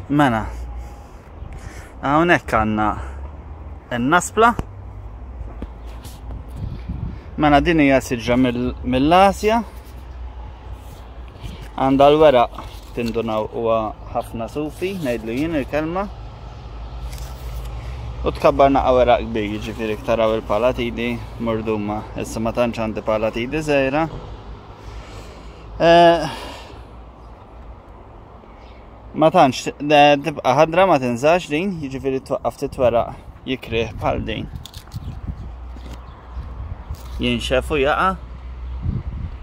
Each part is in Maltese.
Mela, hawnhekk għandna n-naspla. Mela din hija siġra mill-Asja. Għandha l-weraq tindunaw huwa ħafna sufi, ngħidlu jien il-kelma. U tkabbar naqa weraq kbir, jiġifieri taraw il-palatidi murduma. Issa ma tantx għandi palatidi żgħira. Eh, ma tantx tibqa' ħadra ma tinżax din, jiġifieri twaqqaf titweraq jikrih bħal din. Jinxef u jaqa'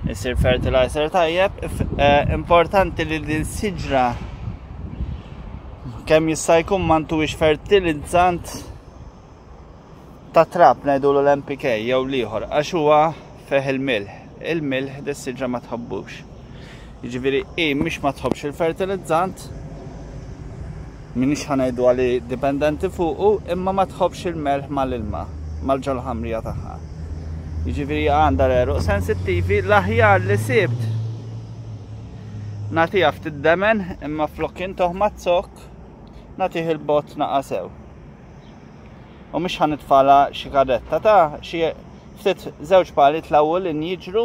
isir fertilizer tajjeb. Eh, importanti li din siġra kemm jista' jkun ma ntuwix fertilizzant Ta' trab ngħidulu l-NPK jew l-ieħor għax huwa fih il-milħ. Il-milħ dis-siġra ma tħobbux. Jiġifieri hi mhix ma tħobbx il-fertilizzant, m'iniex ħa ngħidu għali dipendenti fuqu, imma ma tħobbx il-melħ mal-ilma, mal-ġol-ħamrija tagħha. Jiġifieri għandha l-għeruq sensittivi, l-aħjar li sibt nagħtiha ftit demen imma flok intoh maz-zokk nagħtih il-bott naqa' sew. U mhux ħa nitfala xi karretta ta' xi ftit żewġ pali tlawwu lin jiġru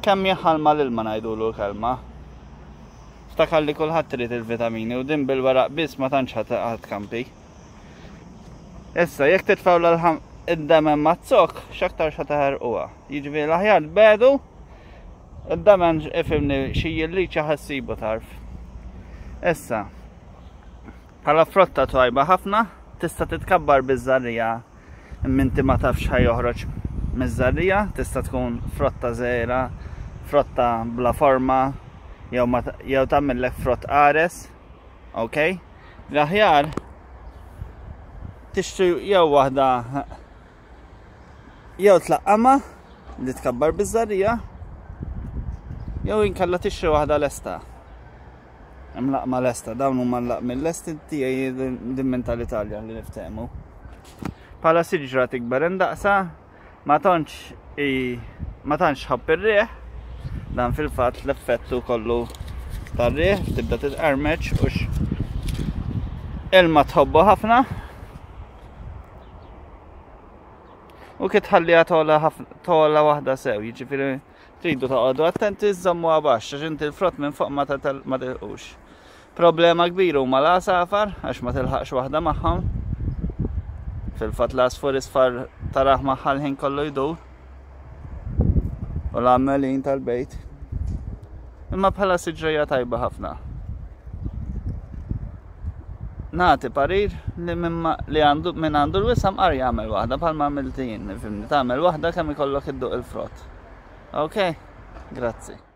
kemm jaħal mal-ilma ngħidulu l-kelma. Ftakar li kulħadd irid il-vitamini u din bil-weraq biss ma tantx ħadd kampi. Issa, jekk titfgħu id-demen maz-zokk, x'aktar xa taħerquha. Jiġifieri l-aħjar tbedu, id-demen ifhimni xi jilliċa ħassibu tarf. Issa, Bħala frotta twajba ħafna, tista' titkabbar biż-żarriegħa imma inti ma tafx x'ħa joħroġ miż-żarriegħa, tista' tkun frotta żgħira, frotta bla forma jew ma jew tagħmillek frott qares. Ok? L-aħjar tixtri jew waħda jew tlaqqamha li tkabbar biż-żarriegħa jew inkella tixtri waħda lesta. Hemm laqma lesta, dawn huma l-laqmi lesti tiegħi din minn tal-Italja li niftehmu. Bħala siġra tikber indaqsa, ma tantx ma tantx ħobb ir-riħ, dan fil-fatt l-effettu kollu tar-riħ tibda titqarmeċ u ilma tħobbu ħafna. U kif tħalliha tola waħda sew, jiġifieri Tridu toqgħodu attenti żżommuha baxx għax inti l-frott minn fuq ma tilqux. Problema kbira huma l-għasafar għax ma tilħaqx waħda magħhom. Fil-fatt l-għasfur isfar tarah magħha l-ħin kollu jdur. U l-għammelin tal-bejt. Imma bħala siġrija tajba ħafna. Nagħti parir li li għandu min għandu l-wisam qar jagħmel waħda bħalma għamilt jien, nifhimni, tagħmel waħda kemm ikollok idduq il-frott. Ok, grazzi.